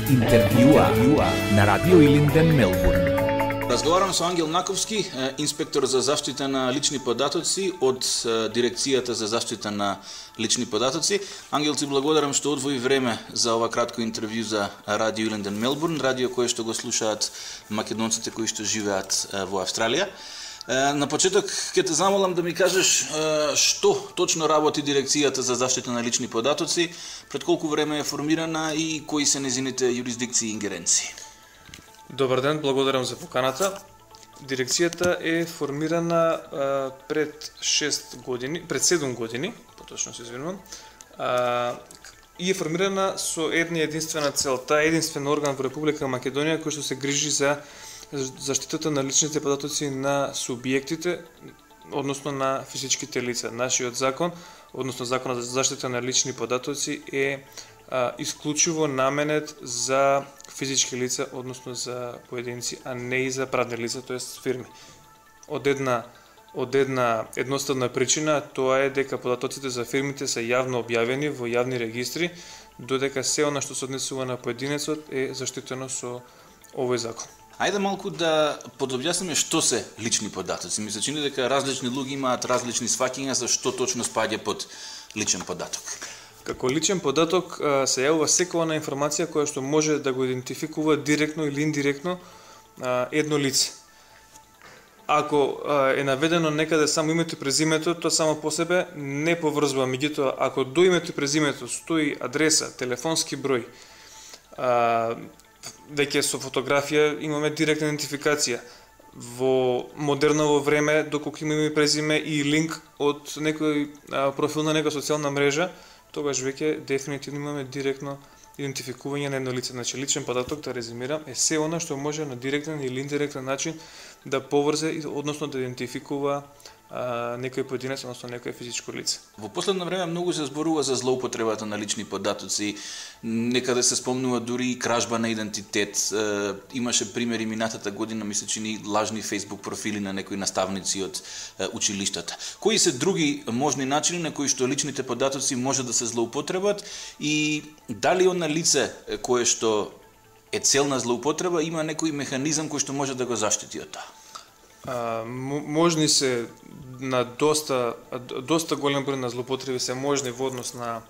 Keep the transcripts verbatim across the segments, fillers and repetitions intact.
Интервјуа на Радио Илинден, Мелбурн. Разговарам со Ангел Наковски, инспектор за заштита на лични податоци од Дирекцијата за заштита на лични податоци. Ангел, ти благодарам што одвои време за ова кратко интервју за Радио Илинден, Мелбурн, радио кое што го слушаат македонците кои што живеат во Австралија. На почеток ќе те замолам да ми кажеш што точно работи Дирекцијата за заштита на лични податоци, пред колку време е формирана и кои се незините юрисдикции и ингеренции. Добар ден, благодарам за поканата. Дирекцијата е формирана а, пред шест години, пред седум години, поточно се извинувам, а, и е формирана со една единствена цел. Таа е единствен орган во Република Македонија кој што се грижи за заштитата на личните податоци на субјектите, односно на физичките лица. Нашиот закон, односно законот за заштита на лични податоци е а, исклучиво наменет за физички лица, односно за поединци, а не и за правни лица, тоест фирми. Од една од една едноставна причина, тоа е дека податоците за фирмите се јавно објавени во јавни регистри, додека се она што се однесува на поединецот е заштитено со овој закон. Ајде малку да подобјасниме што се лични податоци. Ми се чини дека различни луѓе имаат различни сваќања за што точно спаѓа под личен податок. Како личен податок се јавува секоја она информација која што може да го идентификува директно или индиректно едно лице. Ако е наведено некаде само името и презимето, тоа само по себе не поврзува, меѓутоа ако до името и презимето стои адреса, телефонски број, веќе со фотографија имаме директна идентификација. Во модерново време, доколку има име и презиме и линк од некој профил на некоја социјална мрежа, тогаш веќе дефинитивно имаме директно идентификување на едно лице. Значи, личен податок, да резимирам, е се она што може на директен или индиректен начин да поврзе, односно да идентификува а, некој поединец, односно некој физичко лице. Во последно време многу се зборува за злоупотребата на лични податоци, некаде се спомнува дури и кражба на идентитет. Е, имаше примери минатата година, мисля, чини лажни фейсбук профили на некои наставници од е, училиштата. Кои се други можни начини на кои што личните податоци може да се злоупотребат и дали она лице кое што е цел на злоупотреба има некој механизам кој што може да го заштити од тоа? А, можни се на доста доста голем број на злоупотреби се можни во однос на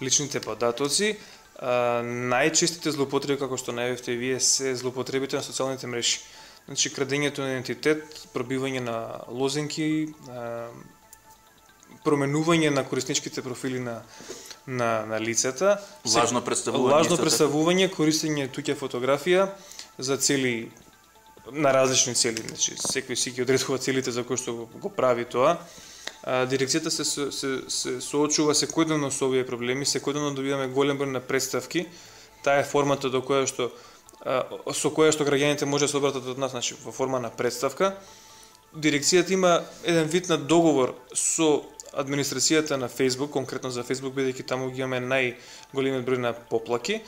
личните податоци. А, најчестите злоупотреби, како што најавивте вие, се злоупотребите на социјалните мрежи. Значи, крадењето на идентитет, пробивање на лозинки, а, променување на корисничките профили на на на лицата, лажно представување, лажно представување, користење туѓа фотографија за цели на различни цели, значи секој си ги одредува целите за кои што го, го прави тоа. А, дирекцијата се, се, се соочува секојдневно со овие проблеми, секојдневно добиваме голем број на представки. Таа е формата до која што а, со која што граѓаните може да се обратат од нас, значи во форма на представка. Дирекцијата има еден вид на договор со администрацијата на Facebook, конкретно за Facebook, бидејќи таму ги имаме најголемиот број на поплаки.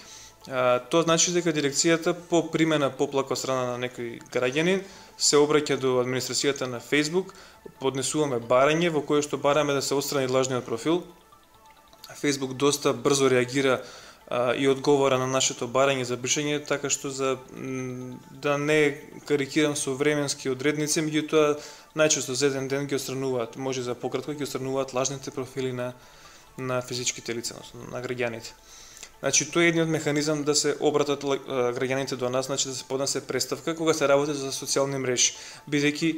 А, тоа значи дека дирекцијата по примена поплака од страна на некој граѓанин се обраќа до администрацијата на Facebook, поднесуваме барање во кое што бараме да се отстрани лажниот профил. Facebook доста брзо реагира а, и одговора на нашето барање за бришање, така што за да не карикирам со временски одредници, меѓутоа најчесто за еден ден ги отстрануваат, може за пократко ги отстрануваат лажните профили на на физичките лица, на граѓаните. Значи, тоа е едниот механизам да се обратат граѓаните до нас, значи да се поднесе представка кога се работи за социјални мрежи, бидејќи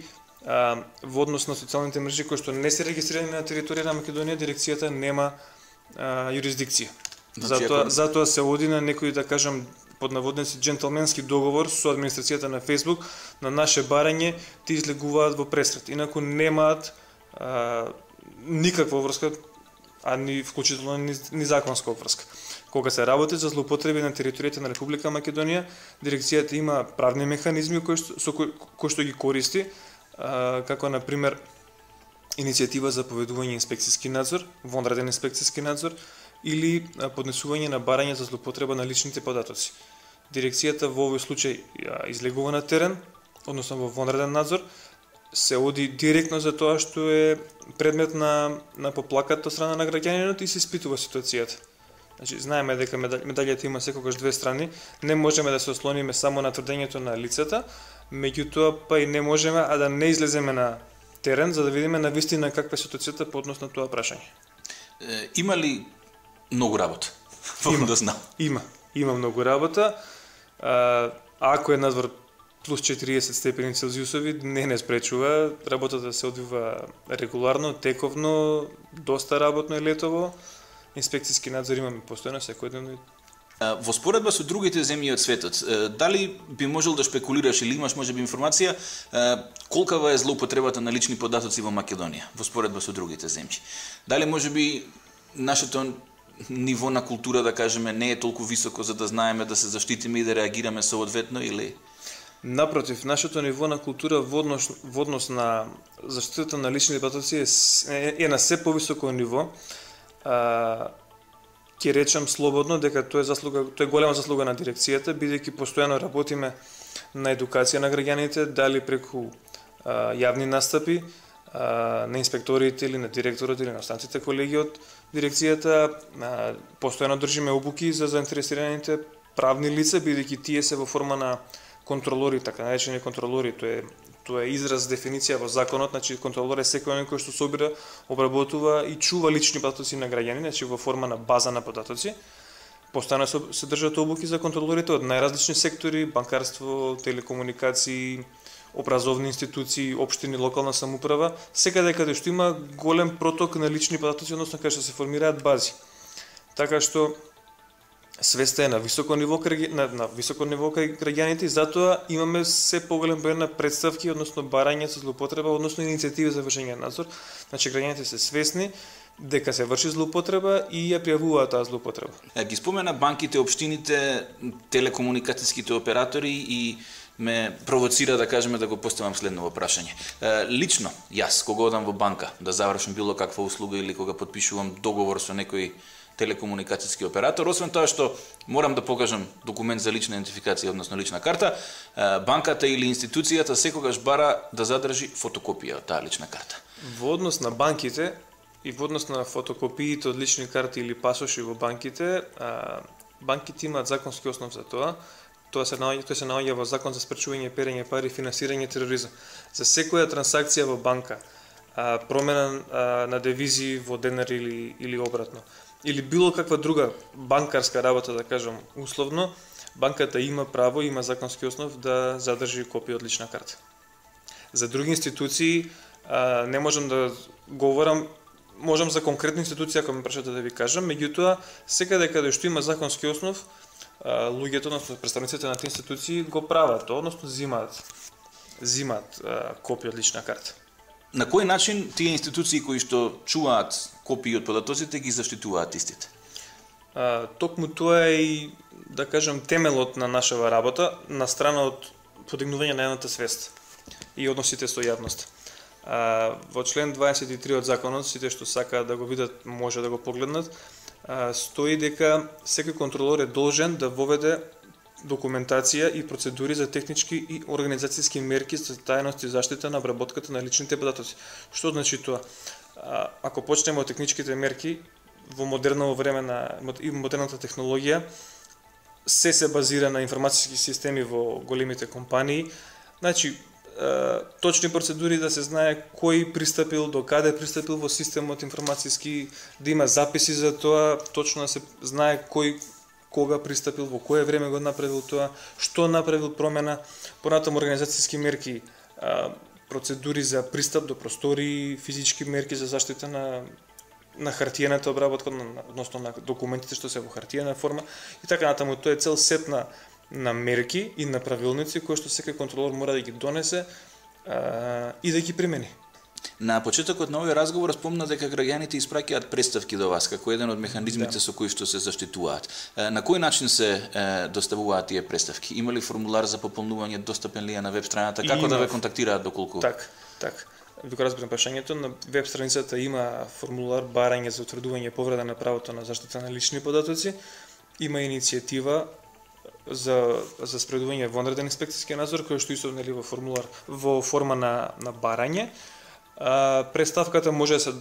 во однос на социјалните мрежи кои што не се регистрирани на територија на Македонија, дирекцијата нема а, юрисдикција. Значи, затоа, ако... затоа се оди на некој, да кажам, под наводници джентълменски договор со администрацијата на Facebook, на наше барање ти излегуваат во пресрет. Инаку немаат а, никаква врска, а ни вклучително ни, ни законска врска. Кога се работи за злоупотреби на територијата на Република Македонија, дирекцијата има правни механизми кои што, со кои, кои што ги користи, а, како на пример иницијатива за поведување инспекцијски надзор, вонреден инспекцијски надзор или а, поднесување на барање за злоупотреба на личните податоци. Дирекцијата во овој случај а, излегува на терен, односно во вонреден надзор, се оди директно за тоа што е предмет на на поплаката од страна на граѓанинот и се испитува ситуацијата. Значи, знаеме дека медалјата има секогаш две страни, не можеме да се ослониме само на тврдењето на лицата, меѓутоа па и не можеме а да не излеземе на терен за да видиме на вистина каква е ситуацијата по однос на тоа прашање. Е, има ли многу работа? Има, да знам. има, има многу работа. А, ако е надвор плюс четириесет степени Целзиусови, не не спречува работата да се одвива регуларно, тековно, доста работно е летово. Инспекцијски надзор имаме постојано секојдневно. Во споредба со другите земји од светот, дали би можел да шпекулираш или имаш можеби информација колкава е злоупотребата на лични податоци во Македонија во споредба со другите земји? Дали можеби нашето ниво на култура, да кажеме, не е толку високо за да знаеме да се заштитиме и да реагираме соодветно или? Напротив, нашето ниво на култура во однос, во однос на заштитата на лични податоци е, е, е на се повисоко ниво. А, ќе речам слободно дека тоа е заслуга, тоа е голема заслуга на дирекцијата, бидејќи постојано работиме на едукација на граѓаните, дали преку а, јавни настапи а, на инспекторите или на директорот или на останатите колеги од дирекцијата, а, постојано држиме обуки за заинтересираните правни лица, бидејќи тие се во форма на контролори, така наречени контролори, тоа е Тоа е израз, дефиниција во законот, значи контролор е секој оној кој што собира, обработува и чува лични податоци на граѓани, значи во форма на база на податоци. Постојано се држат обуки за контролорите од најразлични сектори, банкарство, телекомуникации, образовни институции, општини, локална самоуправа, секаде каде што има голем проток на лични податоци, односно каде што се формираат бази. Така што свеста е на високо ниво на, на високо ниво кај граѓаните и затоа имаме се поголем број на представки, односно барања за злоупотреба, односно иницијативи за вршење на надзор. Значи граѓаните се свесни дека се врши злоупотреба и ја пријавуваат таа злоупотреба. Ги спомена банките, општините, телекомуникацијските оператори и ме провоцира да кажеме да го поставам следно прашање. Лично јас кога одам во банка да завршам било каква услуга или кога потпишувам договор со некој телекомуникацијски оператор, освен тоа што морам да покажам документ за лична идентификација, односно лична карта, банката или институцијата секогаш бара да задржи фотокопија од таа лична карта. Во однос на банките и во однос на фотокопиите од лични карти или пасоши во банките, банките имаат законски основ за тоа. Тоа се наоѓа, тоа се наоѓа во Закон за спречување перење пари и финансирање тероризам. За секоја трансакција во банка, промена на девизи во денар или или обратно, или било каква друга банкарска работа, да кажам условно, банката има право, има законски основ да задржи копија од лична карта. За други институции а, не можам да говорам, можам за конкретна институција, ако ме прашате да ви кажам, меѓутоа секаде каде што има законски основ, а, луѓето, односно представниците на тие институции го прават, односно зимаат, зимаат а, копија од лична карта. На кој начин тие институции кои што чуваат копии од податоците ги заштитуваат истите? А, токму тоа е и, да кажам, темелот на нашава работа, на страна од подигнување на едната свест и односите со јавност. А, во член дваесет и три од законот, сите што сакаат да го видат, може да го погледнат, а, стои дека секој контролор е должен да воведе документација и процедури за технички и организацијски мерки за тајност и заштита на обработката на личните податоци. Што значи тоа? А, ако почнеме од техничките мерки, во модерно време на и модерната технологија, се се базира на информацијски системи во големите компании. Значи, точни процедури да се знае кој пристапил, до каде пристапил во системот информацијски, да има записи за тоа, точно да се знае кој кога пристапил, во кое време го направил тоа, што направил промена, понатаму организацијски мерки, процедури за пристап до простори, физички мерки за заштита на на хартиената обработка, односно на документите што се во хартиена форма и така натаму. Тоа е цел сет на, на мерки и на правилници кои што секој контролор мора да ги донесе а, и да ги примени. На почетокот на овој разговор спомна дека граѓаните испраќаат представки до вас како еден од механизмите да. со кои што се заштитуваат. На кој начин се доставуваат тие представки? Има ли формулар за пополнување, достапен ли е на веб страната? Како да ве контактираат доколку? Так, так. Вика разбирам прашањето, на веб страницата има формулар барање за утврдување повреда на правото на заштита на лични податоци. Има иницијатива за за спредување вонреден инспекцијски надзор кој што исто нели во формулар во форма на на барање. А, представката може да се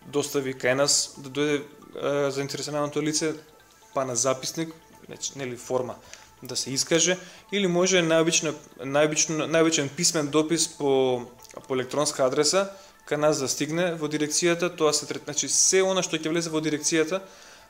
достави кај нас, да дојде заинтересираното лице, па на записник, значи нели форма да се искаже, или може најобично најобично најобичен писмен допис по по електронска адреса кај нас да стигне во дирекцијата, тоа се трет, значи се она што ќе влезе во дирекцијата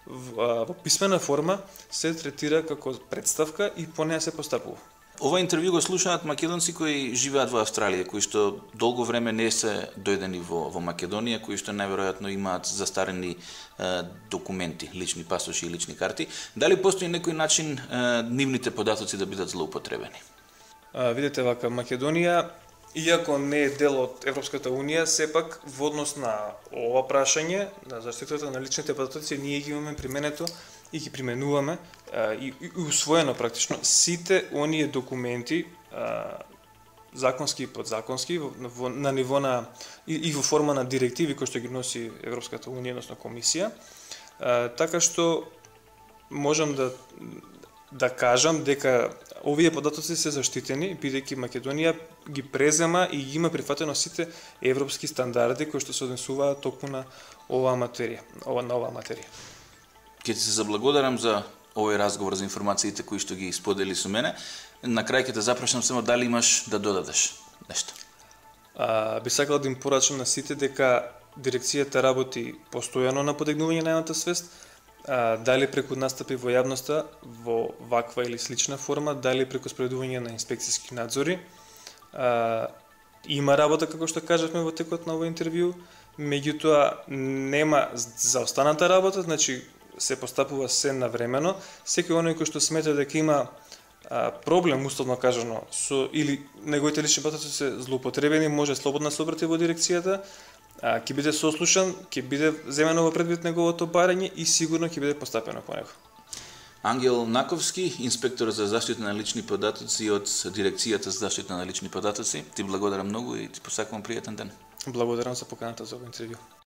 во, во писмена форма се третира како представка и по неа се постапува. Ова интервју го слушаат македонци кои живеат во Австралија, кои што долго време не се дојдени во, во Македонија, кои што најверојатно имаат застарени е, документи, лични пасоши и лични карти. Дали постои некој начин е, нивните податоци да бидат злоупотребени? А, видите вака, Македонија, иако не е дел од Европската Унија, сепак во однос на ова прашање, на заштитата на личните податоци, ние ги имаме применето и ги применуваме а, и, и усвоено практично сите оние документи а, законски и подзаконски во, во, на ниво на и, и во форма на директиви кои што ги носи Европската Унија, односно комисија, а, така што можам да да кажам дека овие податоци се заштитени бидејќи Македонија ги презема и ги има прифатено сите европски стандарди кои што се однесуваат токму на оваа материја, ова на оваа материја. Ќе ти се заблагодарам за овој разговор, за информациите кои што ги сподели со мене. На крај ќе те запрашам само дали имаш да додадеш нешто. А, би сакал да им порачам на сите дека дирекцијата работи постојано на подигнување на јавната свест, а, дали преку настапи во јавноста во ваква или слична форма, дали преку спроведување на инспекцијски надзори. А, има работа, како што кажавме во текот на овој интервју, меѓутоа нема за останата работа, значи се постапува се навремено. Секој оној кој што смета дека има а, проблем, условно кажано, со или неговите лични податоци се злоупотребени, може слободно се обрати во дирекцијата, а, ќе биде сослушан, ќе биде земено во предвид неговото барање и сигурно ќе биде постапено по него. Ангел Наковски, инспектор за заштита на лични податоци од дирекцијата за заштита на лични податоци. Ти благодарам многу и ти посакувам пријатен ден. Благодарам за поканата за овој интервју.